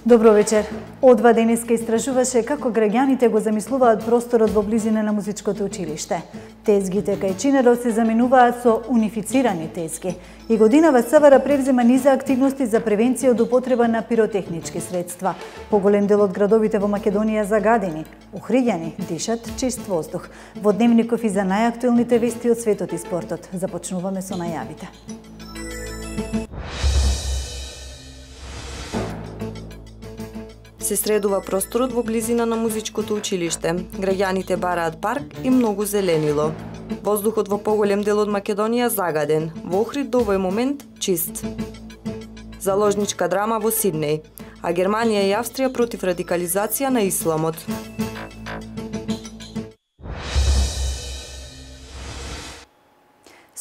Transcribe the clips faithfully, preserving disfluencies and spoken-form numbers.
Добро вечер. Одва денеска истражуваше како граѓаните го замислуваат просторот во близина на музичкото училиште. Тезгите кај Чинеров се заменуваат со унифицирани тезги. И годинава СВР превзема низа активности за превенција од употреба на пиротехнички средства. Поголем дел од градовите во Македонија загадени, ухриѓани, дишат чист воздух. Во Дневников и за најактуелните вести од светот и спортот. Започнуваме со најавите. Се средува просторот во близина на музичкото училиште. Граѓаните бараат парк и многу зеленило. Воздухот во поголем дел од Македонија загаден, во Охрид до овој момент чист. Заложничка драма во Сиднеј, а Германија и Австрија против радикализација на исламот.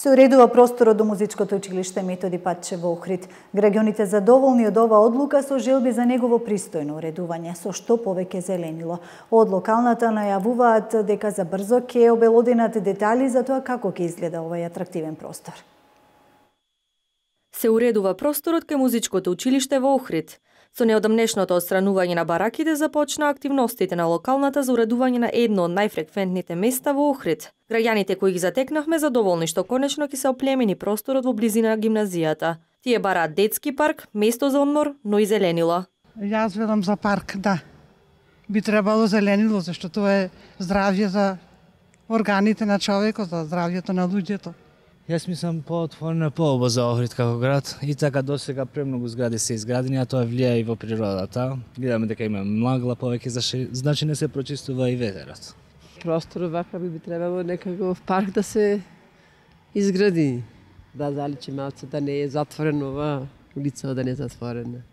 Се уредува просторот до музичкото училиште Методи Патче во Охрид. Граѓаните задоволни од оваа одлука со желби за негово пристојно уредување, со што повеќе зеленило. Од локалната најавуваат дека за брзо ќе обелоденат детали за тоа како ќе изгледа овој атрактивен простор. Се уредува просторот кај музичкото училиште во Охрид. Со неодамнешното отстранување на бараките започна активностите на локалната за уредување на едно од најфреквентните места во Охрид. Граѓаните кои ги затекнавме задоволни што конечно ќе се оплемени просторот во близина на гимназијата. Тие бараат детски парк, место за одмор, но и зеленило. Јас велам за парк, да. Би требало зеленило, зашто тоа е здравје за органите на човекот, за здравјето на луѓето. Јас мислам поотворено поубаво за Охрид како град и така досега премногу згради се изградени, а тоа влијае и во природата. Гледаме дека има магла повеќе, значи не се прочистува и ветерот. Простор вака би требало некаков парк да се изгради. Да заличи малце, да не е затворено ова улица, да не е затворена.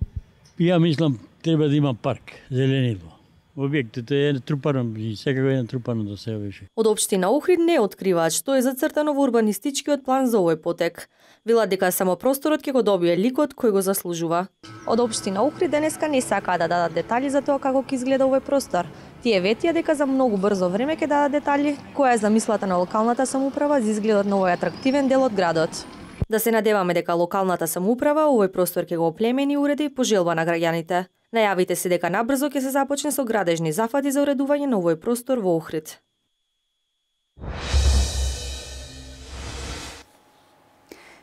Ја мислам треба да има парк, зеленило. Објектот е трупано и секако е натрупано до себе беше. Од општина Охрид не откриваат што е зацртано во урбанистичкиот план за овој потек. Велат дека само просторот ќе го добие ликот кој го заслужува. Од општина Охрид денеска не сакаа да дадат детали за тоа како ќе изгледа овој простор. Тие ветија дека за многу брзо време ќе дадат детали која е замислата на локалната самоуправа за изгледот на овој атрактивен дел од градот. Да се надеваме дека локалната самоуправа овој простор ќе го оплемени и уреди по желба на граѓаните. Најавите се дека набрзо ќе се започне со градежни зафати за уредување на овој простор во Охрид.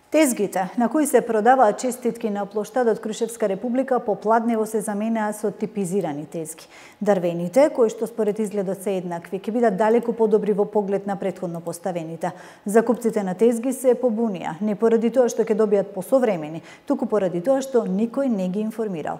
Тезгите на кои се продаваат честитки на плоштадот Крушевска република попладнево се заменаа со типизирани тезги. Дрвените, кои што според изгледот се еднакви, ќе бидат далеку подобри во поглед на претходно поставените. Закупците на тезги се побунија, не поради тоа што ќе добијат посовремени, туку поради тоа што никој не ги информирал.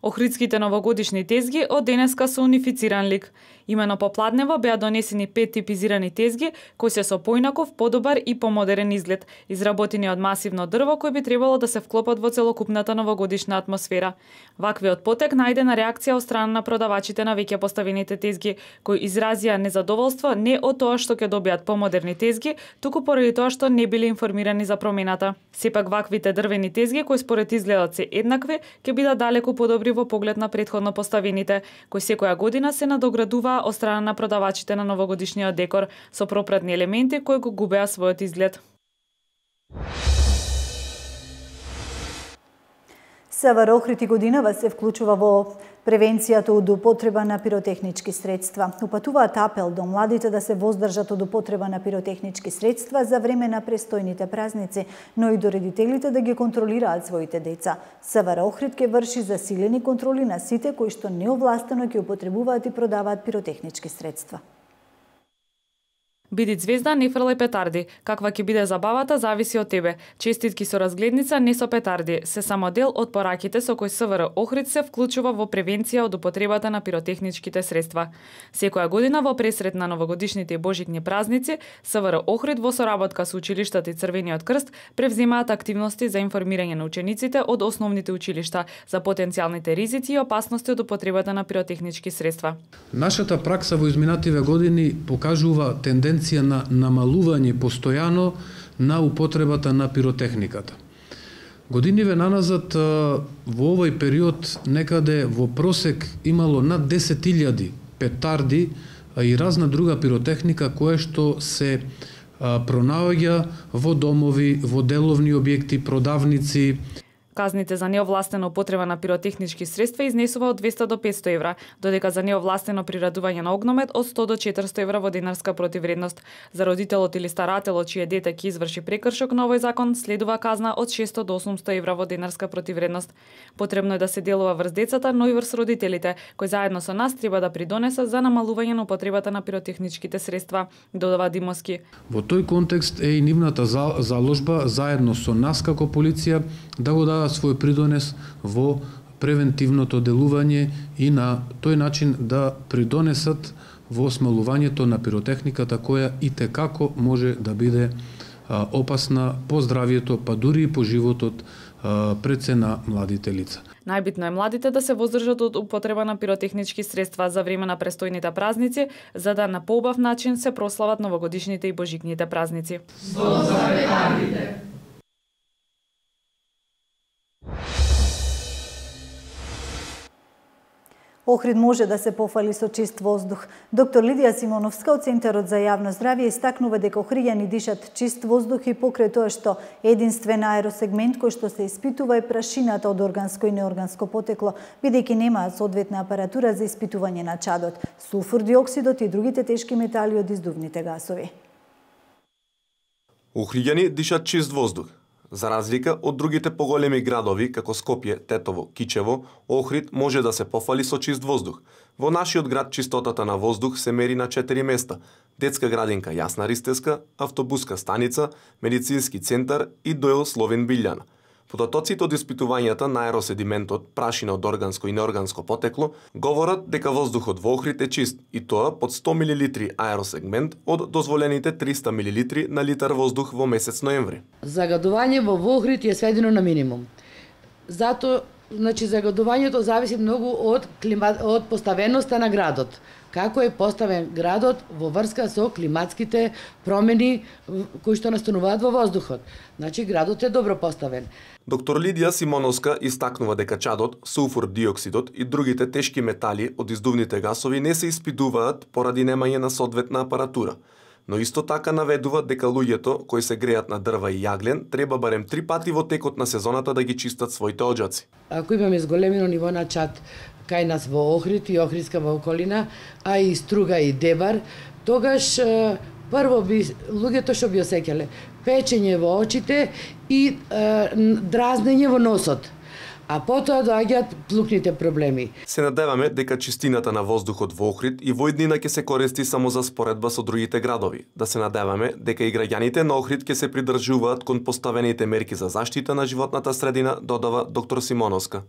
Охридските новогодишни тезги од денеска со унифициран лик. Имено попладнево беа донесени пет типизирани тезги кои се со поинаков, подобар и помодерен изглед, изработени од масивно дрво кои би требало да се вклопат во целокупната новогодишна атмосфера. Ваквиот потек најдена реакција од страна на продавачите на веќе поставените тезги, кои изразија незадоволство не од тоа што ќе добијат помодерни тезги, туку поради тоа што не биле информирани за промената. Сепак ваквите дрвени тезги кои според изгледот се еднакви, ќе бидат далеку подобри во поглед на претходно поставените, кои секоја година се надоградуваа од страна на продавачите на новогодишниот декор со пропратни елементи кои го губеа својот изглед. СВР Охрид и годинава се вклучува во превенцијата од употреба на пиротехнички средства. Упатуваат апел до младите да се воздржат од употреба на пиротехнички средства за време на престојните празници, но и до родителите да ги контролираат своите деца. СВР Охрид ќе врши засилени контроли на сите кои што неовластено ќе употребуваат и продаваат пиротехнички средства. Биди звезда, не фрлај петарди. Каква ќе биде забавата зависи од тебе. Честитки со разгледница, не со петарди, се само дел од пораките со кои СВР Охрид се вклучува во превенција од употребата на пиротехничките средства. Секоја година во пресрет на новогодишните и божитни празници, СВР Охрид во соработка со училиштата и Црвениот крст превземаат активности за информирање на учениците од основните училишта за потенцијалните ризици и опасности од употребата на пиротехнички средства. Нашата пракса во изминативе години покажува тенденција на намалување постојано на употребата на пиротехниката. Годиниве наназад во овој период некаде во просек имало над десет илјади петарди и разна друга пиротехника која што се пронаоѓа во домови, во деловни објекти, продавници. Казните за неовластена употреба на пиротехнички средства изнесува од двесте до петсто евра, додека за неовластено приредување на огномет од сто до четиристо евра во денарска противвредност. За родителот или старателот чие дете ќе изврши прекршок на овој закон, следува казна од шесто до осумсто евра во денарска противвредност. Потребно е да се делува врз децата, но и врз родителите, кои заедно со нас треба да придонесат за намалување на употребата на пиротехничките средства, додава Димовски. Во тој контекст е и нивната заложба заедно со нас како полиција да го дадат свој придонес во превентивното делување и на тој начин да придонесат во смалувањето на пиротехниката која и те како може да биде а, опасна по здравието, па дури и по животот а, пред се на младите лица. Најбитно е младите да се воздржат од употреба на пиротехнички средства за време на престојните празници, за да на поубав начин се прослават новогодишните и божикните празници. Зло за ветаните! Охрид може да се пофали со чист воздух. Доктор Лидија Симоновска од Центарот за јавно здравје истакнува дека охриѓани дишат чист воздух и покрај тоа што единствен аеросегмент кој што се испитува е прашината од органско и неорганско потекло, бидејќи немаат соодветна апаратура за испитување на чадот, сулфур диоксидот и другите тешки метали од издувните гасови. Охриѓани дишат чист воздух. За разлика од другите поголеми градови, како Скопје, Тетово, Кичево, Охрид може да се пофали со чист воздух. Во нашиот град чистотата на воздух се мери на четири места: детска градинка Јасна Ристевска, автобуска станица, медицински центар и ДО Словен Билјана. Потоците од испитувањата на аероседиментот, прашина од органско и неорганско потекло, говорат дека воздухот во Охрид е чист, и тоа под сто милилитри аеросегмент од дозволените триста милилитри на литар воздух во месец ноември. Загадување во Охрид е сведено на минимум. Зато, значи, загадувањето зависи многу од клима... од поставеноста на градот. Како е поставен градот во врска со климатските промени кои што настануваат во воздухот. Значи, градот е добро поставен. Доктор Лидија Симоновска истакнува дека чадот, сулфур диоксидот и другите тешки метали од издувните гасови не се испитуваат поради немање на соодветна апаратура. Но исто така наведува дека луѓето кои се греат на дрва и јаглен треба барем три пати во текот на сезоната да ги чистат своите оџаци. Ако имаме зголемено ниво на чад кај нас во Охрид и Охридска околина, а и Струга и Дебар, тогаш прво би луѓето што би осеќале печење во очите и е, дразнење во носот. А потоа доаѓаат плукните проблеми. Се надеваме дека чистината на воздухот во Охрид и во иднина ќе се користи само за споредба со другите градови. Да се надеваме дека и граѓаните на Охрид ќе се придржуваат кон поставените мерки за заштита на животната средина, додава доктор Симоновска.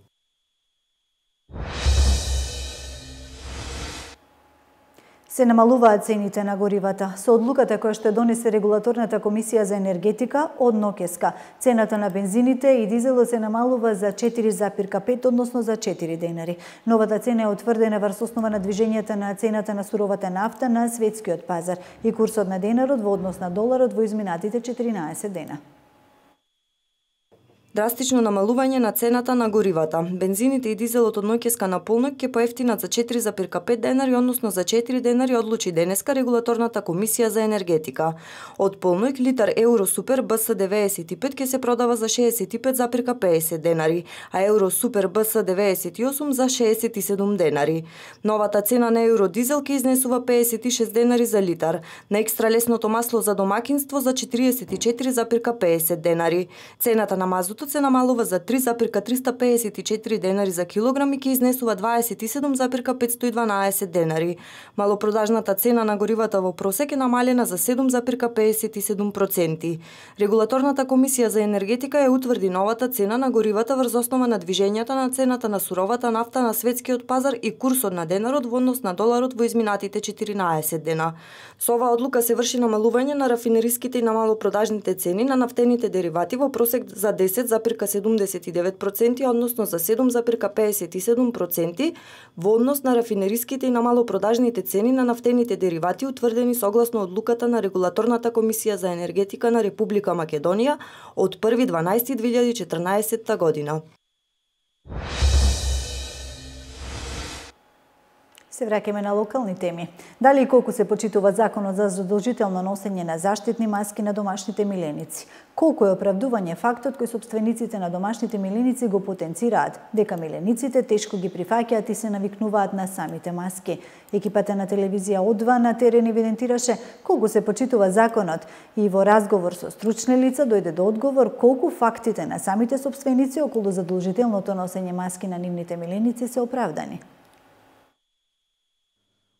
Се намалуваат цените на горивата. Со одлуката која што донесе регулаторната комисија за енергетика од НОКЕСКА, цената на бензините и дизелот се намалува за четири запирка пет, односно за четири денари. Новата цена е утврдена врз основа на движењата на цената на суровата нафта на светскиот пазар и курсот на денарот во однос на доларот во изминатите четиринаесет дена. Драстично намалување на цената на горивата. Бензините и дизелот од НОКЕСКА на полнок ќе поевтинат за четири запирка пет денари, односно за четири денари одлучи денеска регулаторната комисија за енергетика. Од полнок литар Евро Супер Б С деветдесет и пет ќе се продава за шеесет и пет запирка педесет денари, а Евро Супер Б С деветдесет и осум за шеесет и седум денари. Новата цена на Евро Дизел ќе изнесува педесет и шест денари за литар, на екстра лесното масло за домакинство за четириесет и четири запирка педесет денари. Цената на мазутот се намалува за три запирка триста педесет и четири денари за килограм и ќе изнесува дваесет и седум запирка петстотини и дванаесет денари. Малопродажната цена на горивата во просек е намалена за седум запирка педесет и седум проценти. Регулаторната комисија за енергетика ја утврди новата цена на горивата врз основа на движењата на цената на суровата нафта на светскиот пазар и курсот на денарот во однос на доларот во изминатите четиринаесет дена. Со оваа одлука се врши намалување на рафинериските и на малопродажните цени на нафтените деривати во просек за десет запирка седумдесет и девет проценти, односно за седум запирка педесет и седум проценти во однос на рафинериските и на малопродажните цени на нафтените деривати утврдени согласно одлуката на регулаторната комисија за енергетика на Република Македонија од први дванаести две илјади и четрнаесетта година. Се враќаме на локални теми. Дали и колку се почитува законот за задолжително носење на заштитни маски на домашните миленици? Колку е оправдување фактот кој сопствениците на домашните миленици го потенцираат, дека милениците тешко ги прифаќаат и се навикнуваат на самите маски? Екипата на телевизија О два на терен евидентираше колку се почитува законот и во разговор со стручни лица дојде до одговор колку фактите на самите сопственици околу задолжителното носење маски на нивните миленици се оправдани.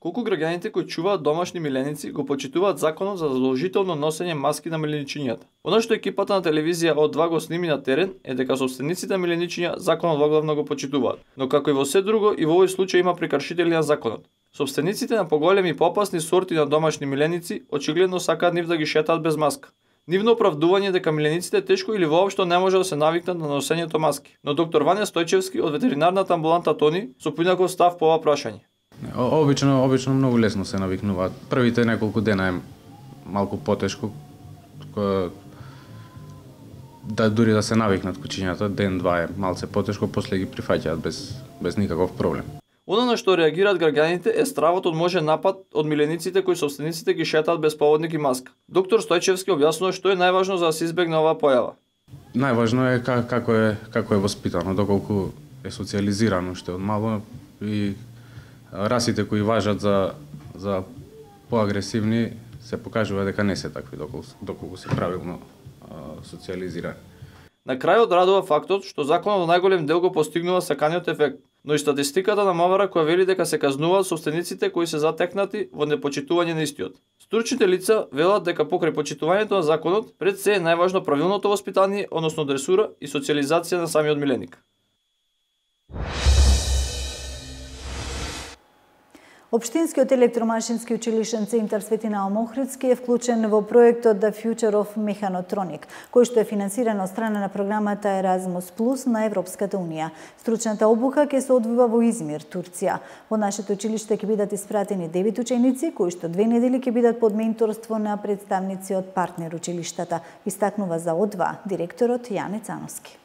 Колку граѓаните кои чуваат домашни миленици го почитуваат законот за задолжително носење маски на миленичињата. Она што екипата на телевизија О два го сними на терен е дека сопствениците на миленичиња законот воглавно го почитуваат, но како и во се друго и во овој случај има прекршители на законот. Сопствениците на поголеми и попасни сорти на домашни миленици очигледно сакаат нив да ги шетаат без маска. Нивно оправдување дека милениците тешко или воопшто не може да се навикнат на носењето маски. Но доктор Вања Стојчевски од ветеринарната амбуланта Тони со поинаков став по ова прашање. Обично, обично многу лесно се навикнуваат. Првите неколку дена е малку потешко, да дури да се навикнат кучињата, ден-два е малце потешко, после ги прифаќаат без, без никаков проблем. Оно на што реагираат граѓаните е стравот од можен напад од милениците кои сопствениците ги шетаат без поводник и маска. Доктор Стојчевски објаснува што е најважно за да се избегне оваа појава. Најважно е како е како е воспитано, доколку е социализирано уште од мало и расите кои важат за за поагресивни се покажува дека не се такви доколку доколку се правилно а, социализирани. На крајот радува фактот што законот во најголем дел го постигнува саканиот ефект, но и статистиката на МВР која вели дека се казнуваат сопствениците кои се затекнати во непочитување на истиот. Стручните лица велат дека покрај почитувањето на законот пред се е најважно правилното воспитание, односно дресура и социализација на самиот миленик. Општинскиот електромашински училишен центар Свети Наум Охридски е вклучен во проектот The Future of Mechatronics, кој што е финансиран од страна на програмата Erasmus Plus на Европската унија. Стручната обука ќе се одвива во Измир, Турција. Во нашето училиште ќе бидат испратени девет ученици, кои што две недели ќе бидат под менторство на представници од партнер училиштата, истакнува за О два директорот Јане Цановски.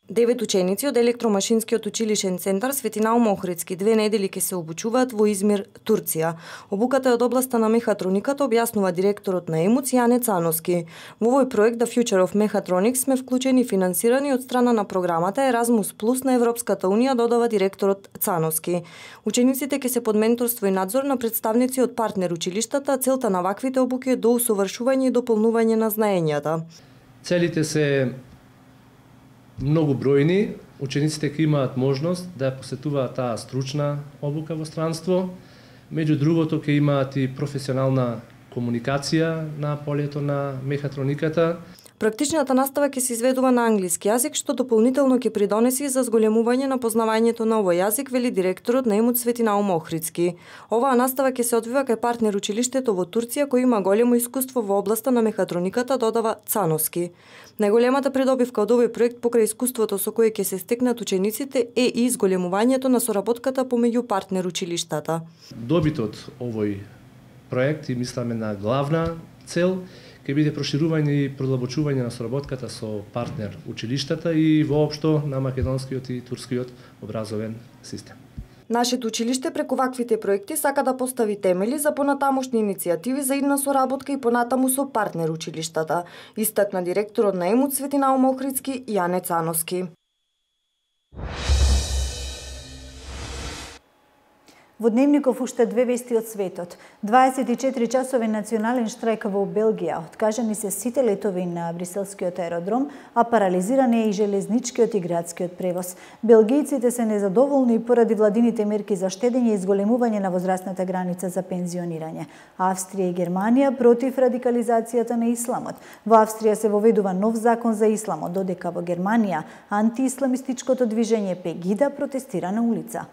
Девет ученици од електромашинскиот училишен центар Свети Наум Охридски две недели ќе се обучуваат во Измир, Турција. Обуката е од областа на мехатрониката, објаснува директорот на ЕМУЦ Јане Цановски. Во овој проект The Future of Mechatronics сме вклучени и финансирани од страна на програмата Erasmus Plus на Европската унија, додава директорот Цановски. Учениците ќе се под менторство и надзор на представници од партнер училиштата, целта на ваквите обуки е до усовршување и дополнување на знаењата. Целите се многу бројни, учениците ќе имаат можност да посетуваат таа стручна обука во странство. Меѓу другото ќе имаат и професионална комуникација на полето на мехатрониката. Практичната настава ќе се изведува на англиски јазик, што дополнително ќе придонеси за зголемување на познавањето на овој јазик, вели директорот на ЕМУЦ Свети Наум Охридски. Оваа настава ќе се одвива кај партнер училиштето во Турција, кој има големо искуство во областа на мехатрониката, додава Цановски. Најголемата придобивка од овој проект покрај искуството со кое ќе се стекнат учениците е и зголемувањето на соработката помеѓу партнер училиштата. Добитот овој проект и мисламе на главна цел ќе биде проширување и продлабочување на соработката со партнер училиштата и воопшто на македонскиот и турскиот образовен систем. Нашето училиште преку ваквите проекти сака да постави темели за понатамошни иницијативи за идна соработка и понатаму со партнер училиштата, истакна директорот на ЕМУЦ Свети Наум Охридски Јане Цановски. Во Дневников уште две вести од светот. дваесет и четири часови национален штрајк во Белгија. Откажани се сите летови на бриселскиот аеродром, а парализиран е и железничкиот и градскиот превоз. Белгијците се незадоволни поради владините мерки за штедење и зголемување на возрастната граница за пензионирање. Австрија и Германија против радикализацијата на исламот. Во Австрија се воведува нов закон за исламот, додека во Германија антиисламистичкото движење Пегида протестира на улица.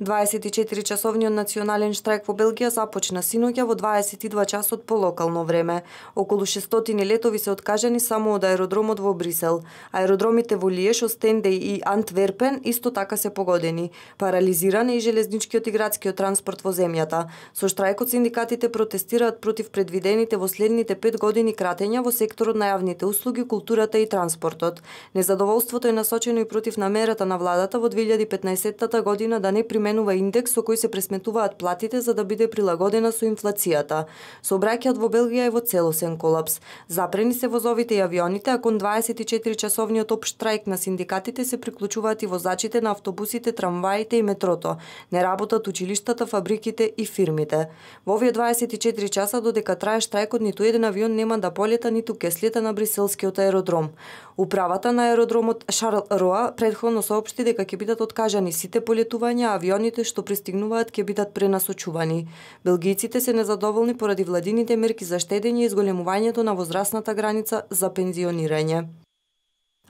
дваесет и четири часовниот национален штрајк во Белгија започна синоќа во дваесет и два часот по локално време. Околу шестстотини летови се откажани само од аеродромот во Брисел. Аеродромите во Лиеш, Остендеј и Антверпен исто така се погодени. Парализиран е и железничкиот и градскиот транспорт во земјата. Со штрајкот синдикатите протестираат против предвидените во следните пет години кратења во секторот на јавните услуги, културата и транспортот. Незадоволството е насочено и против намерата на владата во две илјади и петнаесетта година да не применува индекс со кој се пресметуваат платите за да биде прилагодена со инфлацијата. Сообраќајот во Белгија е во целосен колапс. Запрени се возовите и авионите, а кон дваесет и четири часовниот општ штрајк на синдикатите се приклучуваат и возачите на автобусите, трамваите и метрото. Не работат училиштата, фабриките и фирмите. Во овие дваесет и четири часа додека трае штрајкот, ниту еден авион нема да полета, ниту ќе слета на бриселскиот аеродром. Управата на аеродромот Шарл Роа претходно соопшти дека ќе бидат откажани сите полетувања, а авионите што пристигнуваат ќе бидат пренасочувани. Белгијците се незадоволни поради владините мерки за штедење и зголемувањето на возрастната граница за пензионирање.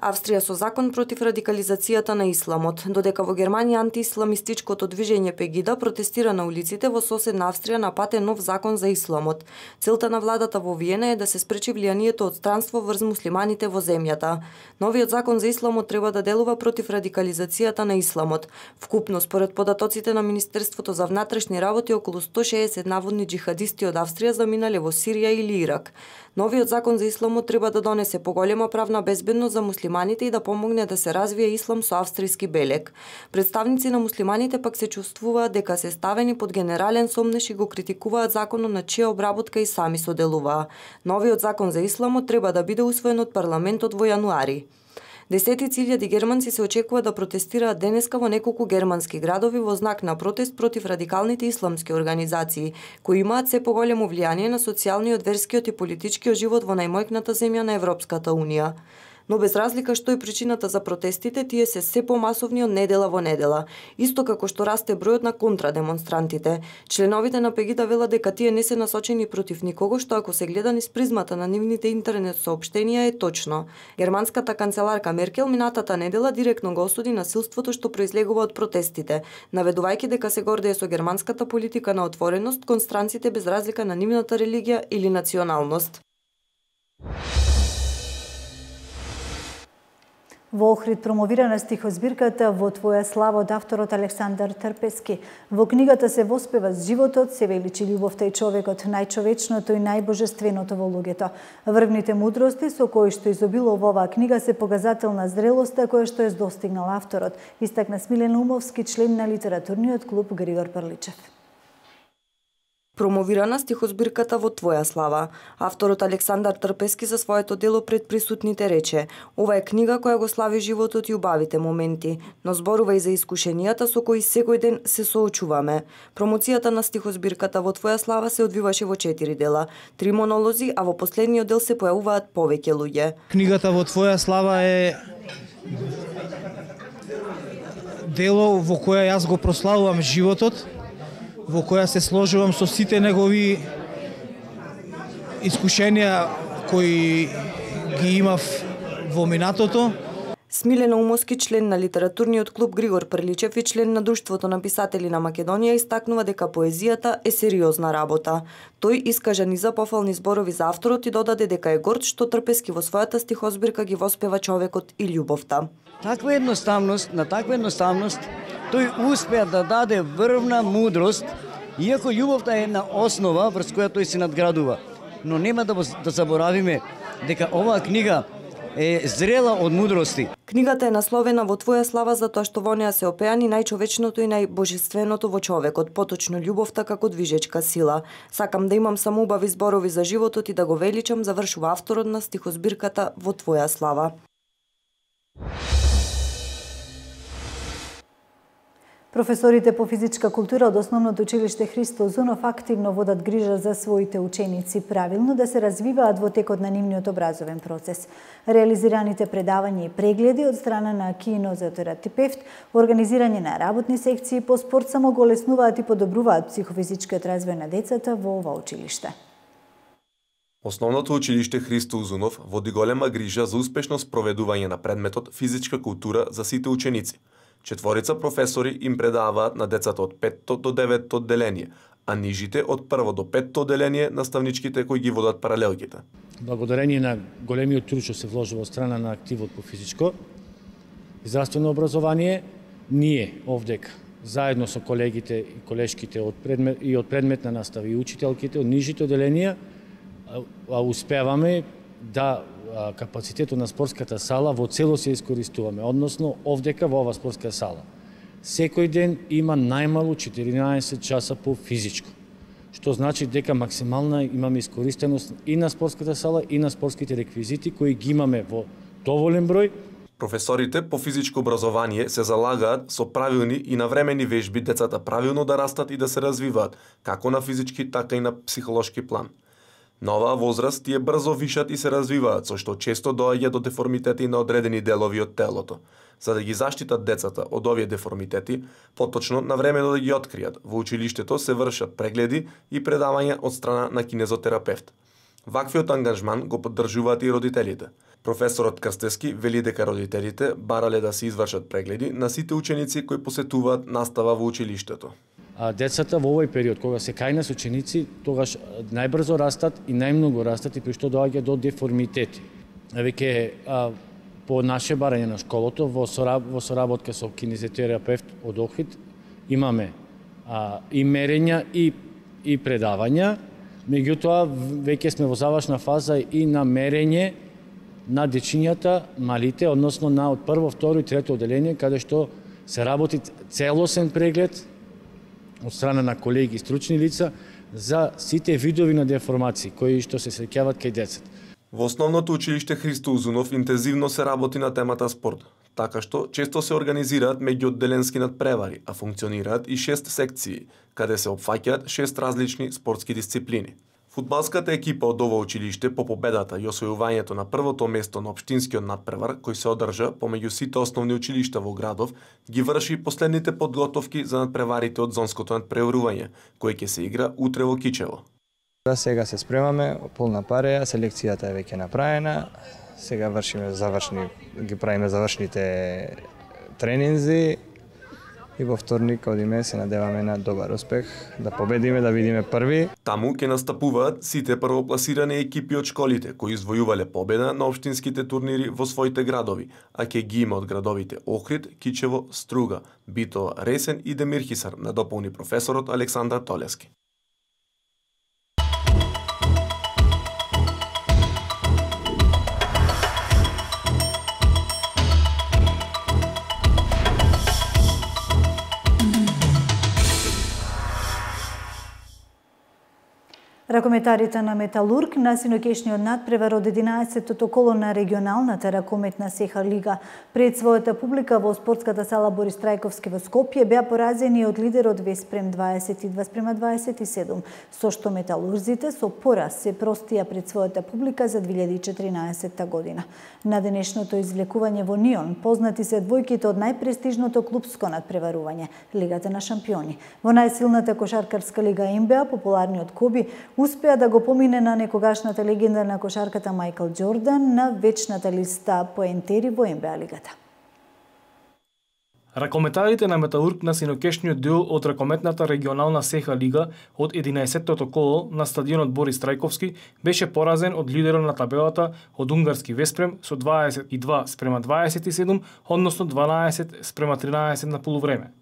Австрија со закон против радикализацијата на исламот. Додека во Германија антиисламистичкото движење Пегида протестира на улиците, во соседна Австрија напате нов закон за исламот. Целта на владата во Виена е да се спречи влијанието од странство врз муслиманите во земјата. Новиот закон за исламот треба да делува против радикализацијата на исламот. Вкупно, според податоците на Министерството за внатрешни работи, околу сто шеесет наводни џихадисти од Австрија заминале во Сирија или Ирак. Новиот закон за исламот треба да донесе поголема правна безбедност за муслиманите и да помогне да се развие ислам со австријски белег. Представници на муслиманите пак се чувствуваат дека се ставени под генерален сомнеш и го критикуваат законот на чија обработка и сами соделуваа. Новиот закон за исламот треба да биде усвоен од парламентот во јануари. Десетици илјади германци се очекува да протестираат денеска во неколку германски градови во знак на протест против радикалните исламски организации, кои имаат се поголемо влијание на социјалниот, верскиот и политичкиот живот во најмојкната земја на Европската Унија. Но без разлика што е причината за протестите, тие се се помасовни од недела во недела, исто како што расте бројот на контрадемонстрантите. Членовите на Пегида велат дека тие не се насочени против никого, што ако се гледа низ призмата на нивните интернет соопштенија е точно. Германската канцеларка Меркел минатата недела директно го осуди насилството што произлегува од протестите, наведувајќи дека се гордее со германската политика на отвореност кон странците без разлика на нивната религија или националност. Во Охрид промовирана стихозбирката "Во твоја слава" од авторот Александар Трпески. Во книгата се воспева животот, се величи љубовта и човекот, најчовечното и најбожественото во луѓето. Врвните мудрости со кои што изобилува оваа книга се показател на зрелоста која што е достигнал авторот, истакна Смилен Умовски, член на литературниот клуб Григор Прличев. Промовирана стихозбирката "Во твоја слава". Авторот Александар Трпески за своето дело пред присутните рече: "Ова е книга која го слави животот и убавите моменти, но зборува и за искушенијата со кои секој ден се соочуваме." Промоцијата на стихозбирката "Во твоја слава" се одвиваше во четири дела, три монолози, а во последниот дел се појавуваат повеќе луѓе. Книгата "Во твоја слава" е дело во која јас го прославувам животот, во која се сложувам со сите негови искушенија кои ги имав во минатото. Смилена Умовски, член на литературниот клуб Григор Прличев и член на Друштвото на писатели на Македонија, истакнува дека поезијата е сериозна работа. Тој искажа низа пофални зборови за авторот и додаде дека е горд што Трпески во својата стихозбирка ги воспева човекот и љубовта. Таква едноставност, на таква едноставност, тој успеа да даде врвна мудрост, иако љубовта е една основа врз која тој се надградува. Но нема да, да заборавиме дека оваа книга е зрела од мудрости. Книгата е насловена "Во твоја слава" затоа што во неа се опеани најчовечното и најбожественото во човекот, поточно љубовта како движечка сила. Сакам да имам само убави зборови за животот и да го величам, завршува авторот на стихозбирката "Во твоја слава". Професорите по физичка култура од Основното училиште Христо Узунов активно водат грижа за своите ученици, правилно да се развиваат во текот на нивниот образовен процес. Реализираните предавања и прегледи од страна на кинезотерапевт, организирање на работни секции по спорт само го леснуваат и подобруваат психофизичкиот развој на децата во ова училиште. Основното училиште Христо Узунов води голема грижа за успешно спроведување на предметот физичка култура за сите ученици. Четворица професори им предаваат на децата од петто до деветто одделение, а нижите од прво до петто одделение наставничките кои ги водат паралелките. Благодарение на големиот труд што се вложува од страна на активот по физичко и здравствено образование, ние овдека заедно со колегите и колешките од предмет и од предметна настава и учителките од нижите одделенија а успеваме да капацитетот на спортската сала во целост ја искористуваме, односно овдека во ова спортска сала. Секој ден има најмалу четиринаесет часа по физичко, што значи дека максимална имаме искористеност и на спортската сала и на спортските реквизити кои ги имаме во доволен број. Професорите по физичко образование се залагаат со правилни и навремени вежби децата правилно да растат и да се развиваат, како на физички, така и на психолошки план. На оваа возраст тие брзо вишат и се развиваат, со што често доаѓа до деформитети на одредени делови од телото. За да ги заштитат децата од овие деформитети, поточно навремено да ги откријат, во училиштето се вршат прегледи и предавања од страна на кинезотерапевт. Ваквиот ангажман го поддржуваат и родителите. Професорот Крстевски вели дека родителите барале да се извршат прегледи на сите ученици кои посетуваат настава во училиштето. А децата во овој период, кога се кај нас ученици, тогаш најбрзо растат и најмногу растат и при што доаѓа до деформитети. Веќе по наше барање на школото, во, сораб, во соработка со кинезотерапевт од Охрид, имаме а, и мерења и, и предавања, меѓутоа веќе сме во завршна фаза и на мерење на дечињата, малите, односно на од прво, второ и трето одделение, каде што се работи целосен преглед од страна на колеги и стручни лица за сите видови на деформации кои што се среќаваат кај децата. Во основното училиште Христо Узунов интензивно се работи на темата спорт, така што често се организираат меѓуодделенски надпревари, а функционираат и шест секции, каде се опфаќаат шест различни спортски дисциплини. Фудбалската екипа од ова училиште по победата и освојувањето на првото место на општинскиот надпревар, кој се одржа помеѓу сите основни училишта во градов, ги врши последните подготовки за надпреварите од зонското надпреварување, кој ќе се игра утре во Кичево. Да, сега се спремаме, полна пареја, селекцијата е веќе направена, сега вршиме завршни, ги правиме завршните тренинзи и во вторник одиме се надеваме на добар успех, да победиме, да видиме први. Таму ќе настапуваат сите првопласирани екипи од школите кои извојувале победа на општинските турнири во своите градови, а ќе ги има од градовите Охрид, Кичево, Струга, Битола, Ресен и Демирхисар, надополни професорот Александар Толески. Ракометарите на Металург на синокешниот надпревар од единаесеттото коло на регионалната ракометна Сеха Лига пред својата публика во спортската сала Борис Трајковски во Скопје беа поразени од лидерот Веспрем дваесет и два спрема дваесет и седум, со што металурзите со пораз се простија пред својата публика за две илјади и четиринаесетта година. На денешното извлекување во Нион познати се двојките од најпрестижното клупско надпреварување Лигата на шампиони. Во најсилната кошаркарска лига Н Б А популарниот Коби успеа да го помине на некогашната легенда на кошарката Мајкл Џордан на вечната листа поентери во Н Б А лигата. Ракометарите на Металург на синокешниот дел од ракометната регионална Сеха Лига од единаесеттото коло на стадионот Борис Трајковски беше поразен од лидерот на табелата од унгарски Веспрем со дваесет и два спрема дваесет и седум, односно дванаесет спрема тринаесет на полувреме.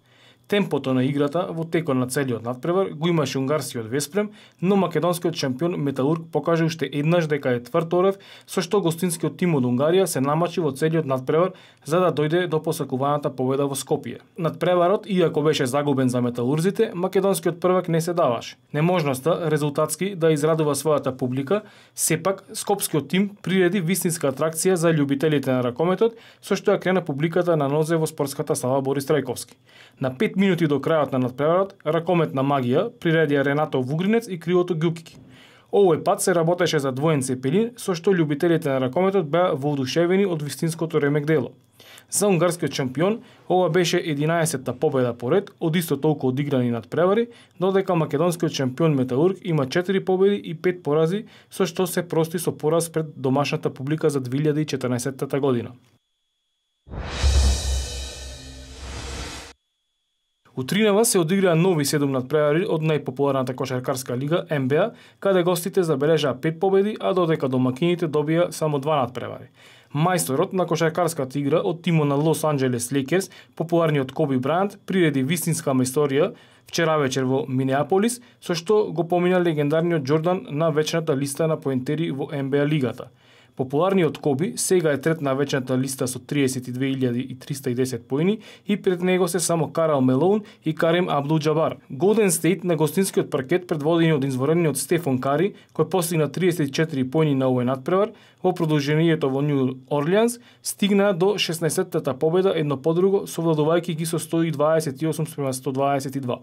Темпото на играта во текот на целиот надпревар го имаше унгарскиот Веспрем, но македонскиот шампион Металург покажа уште еднаш дека е тврд орев, со што гостинскиот тим од Унгарија се намачи во целиот надпревар за да дојде до посакуваната победа во Скопје. Надпреварот, иако беше загубен за металурзите, македонскиот првак не се даваше. Неможноста резултатски да израдува својата публика, сепак скопскиот тим приреди вистинска атракција за љубителите на ракометот, со што ја крена публиката на нозе во спортската сала Борис Трајковски. На пет минути до крајот на надпреварот, ракометна магија приредија Ренато Вугринец и Кривото Ѓукики. Овој пат се работеше за двоен цепелин, со што љубителите на ракометот беа воодушевени од вистинското ремек дело. За унгарскиот шампион, ова беше единаесетта победа поред од исто толку одиграни надпревари, додека македонскиот шампион Металург има четири победи и пет порази, со што се прости со пораз пред домашната публика за две илјади и четрнаесетта година. У Тринава се одиграа нови седум надпревари од најпопуларната кошаркарска лига Н Б А, каде гостите забележаа пет победи, а додека домакините добија само два надпревари. Мајсторот на кошаркарската игра од тимот на Лос Анџелес Лейкерс, популарниот Коби Брајант, приреди вистинска мајсторија вчера вечер во Минеаполис, со што го помина легендарниот Џордан на вечната листа на поентери во Н Б А лигата. Популарниот Коби сега е трет на вечната листа со триесет и две илјади триста и десет поени и пред него се само Карал Мелоун и Карем Абдул Џабар. Голден Стейт на гостинскиот паркет предводени од извонредниот Стефан Кари, кој постигна триесет и четири поени на овој надпревар, во продолжението во Нью Орлеанс, стигна до шеснаесеттата победа едно по друго, совладувајќи ги со сто дваесет и осум спрема сто дваесет и два.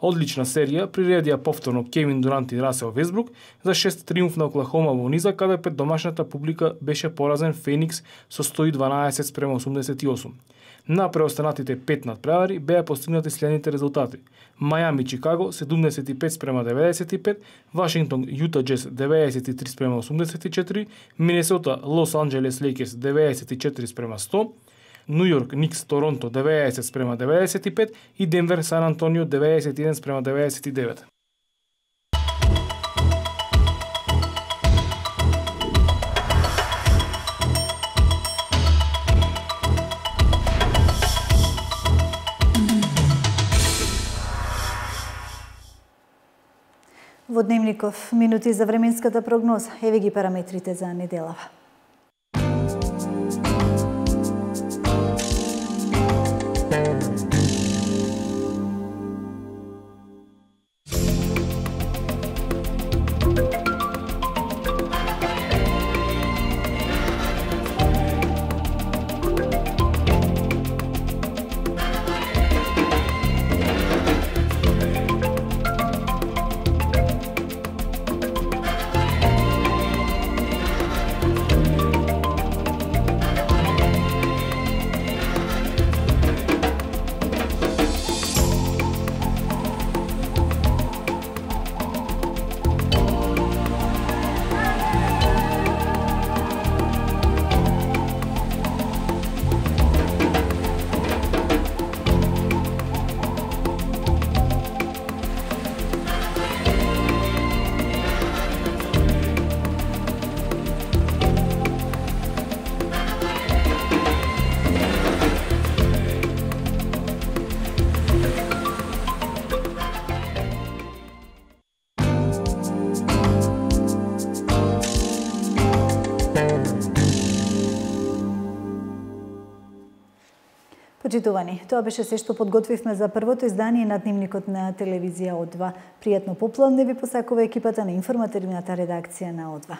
Одлична серија приредија повторно Кевин Дурант и Расел Весбрук за шест триумф на Оклахома во низа, каде пред домашната публика беше поразен Феникс со сто дванаесет спрема осумдесет и осум. На преостанатите пет надпревари беа постигнати следните резултати: Мајами Чикаго седумдесет и пет спрема деветдесет и пет, Вашингтон Јута Џез деветдесет и три спрема осумдесет и четири, Минесота Лос Анџелес Лейкерс деветдесет и четири спрема сто, Нью Йорк Никс Торонто деветдесет спрема деветдесет и пет и Денвер Сан Антонио деветдесет и еден спрема деветдесет и девет. Во Дневников минути за временската прогноза. Еве ги параметрите за неделава. Почитувани, тоа беше се што подготвивме за првото издание на Дневникот на телевизија О два. Пријатно попладне ви посакува екипата на информативната редакција на О два.